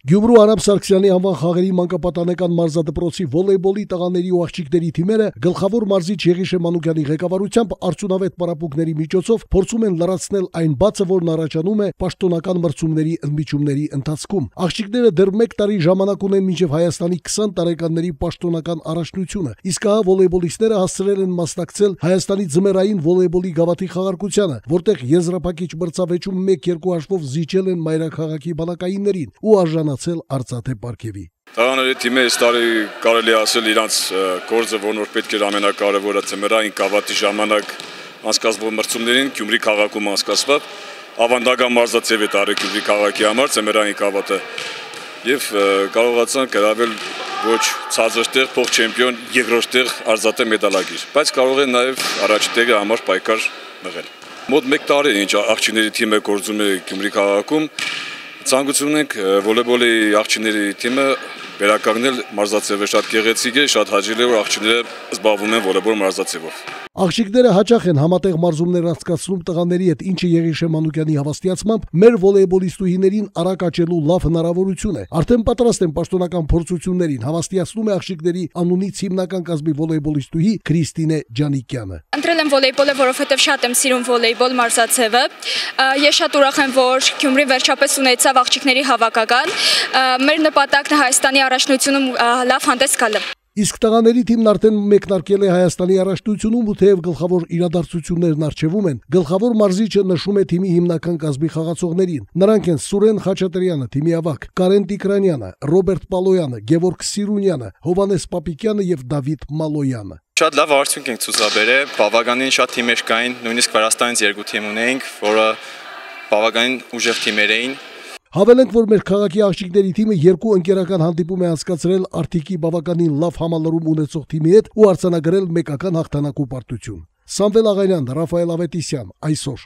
Գյումրու Արամ Սարգսյանի անվան խաղերի մանկապատանեկան մարզադպրոցի վոլեյբոլի տղաների ու աղջիկների թիմերը գլխավոր մարզիչ Եղիշե Մանուկյանի ղեկավարությամբ արդյունավետ պարապմունքների միջոցով փորձում են լրացնել այն բացը, որն առաջանում է պաշտոնական մրցումների ընդմիջումների ընթացքում։ Աղջիկները դեռ 1 տարի ժամանակ ունեն մինչև Հայաստանի 20 տարեկանների պաշտոնական առաջնությունը, իսկ ահա վոլեյբոլիստները հասցրել են մասնակցել Հայաստանի ձմեռային վոլեյբոլի գավաթի խաղարկությանը, որտեղ եզրափակիչ մրցավեճում 1-2 հաշվով զիջել են մայրաքաղաքի բանակայիններին ու արժանացել արծաթե պարգևի։ Տղաների թիմը այս տարի կարելի ասել իրանց գործը, որն որ պետք էր ամենակարևորը ձմեռային գավաթի ժամանակ անցկացվող մրցումներին Գյումրի քաղաքում անցկացված, ավանդական մարզաձև է տարել Գյումրի քաղաքի համար ձմեռային գավաթը եւ կարողացան գրավել ոչ ցածր տեղ փոխ-չեմպիոն, երկրորդ տեղ արծաթե մեդալագիր, բայց կարող են նաեւ առաջին տեղի համար պայքար մղել։ Մոտ 1 տարի ինչ աղջիկների թիմը գործում է Գյումրի քաղաքում, ցանկություն ունենք վոլեյբոլի աղջիկների թիմը վերականգնել մարզաձևը շատ գեղեցիկ է, շատ հաճելի է, որ աղջիկները զբաղվում են վոլեյբոլ մարզաձևով։ Աղջիկները հաճախ են համատեղ մարզումներ անցկացնում տղաների հետ, ինչը Եղիշե Մանուկյանի հավաստիացմամբ մեր վոլեյբոլիստուհիներին արագ աճելու լավ հնարավորություն է։ Արդեն պատրաստ են պաշտոնական փորձություններին, հավաստիացնում է աղջիկների անունից հիմնական կազմի վոլեյբոլիստուհի Քրիստինե Ջանիկյանը։ Ընտրել եմ վոլեյբոլը, որովհետև շատ եմ սիրում վոլեյբոլ մարզաձևը։ Ես շատ ուրախ եմ, որ Գյումրին վերջապես ունեցավ աղջիկների հավաքական։ Մեր նպատակն է Հայաստանի առաջնությունում լավ հանդես գալը։ Իսկ տղաների թիմն արդեն մեկնարկել է Հայաստանի առաջնությունում ու թեև գլխավոր իրադարձություններն առջևում են, գլխավոր մարզիչը նշում է թիմի հիմնական կազմի խաղացողներին։ Նրանք են Սուրեն Խաչատրյանը, թիմի ավագ, Կարեն Տիկրանյանը, Ռոբերտ Պալոյանը, Գևորգ Սիրունյանը, Հովանես Պապիկյանը եւ Դավիթ Մալոյանը։ Շատ լավ արդյունք ենք ցուցաբերել, բավականին շատ թիմեր կային, նույնիսկ Վրաստանից 2 թիմ ունեինք, որը բավականին ուժեղ թիմեր էին։ Հավելենք, որ մեր քաղաքի աղջիկների թիմը 2 ընկերական հանդիպում է անցկացրել Արթիկի բավականին լավ համալրում ունեցող թիմի հետ ու արձանագրել մեկական հաղթանակ ու պարտություն։ Սամվել Աղանյան, Ռաֆայել Ավետիսյան, այսօր։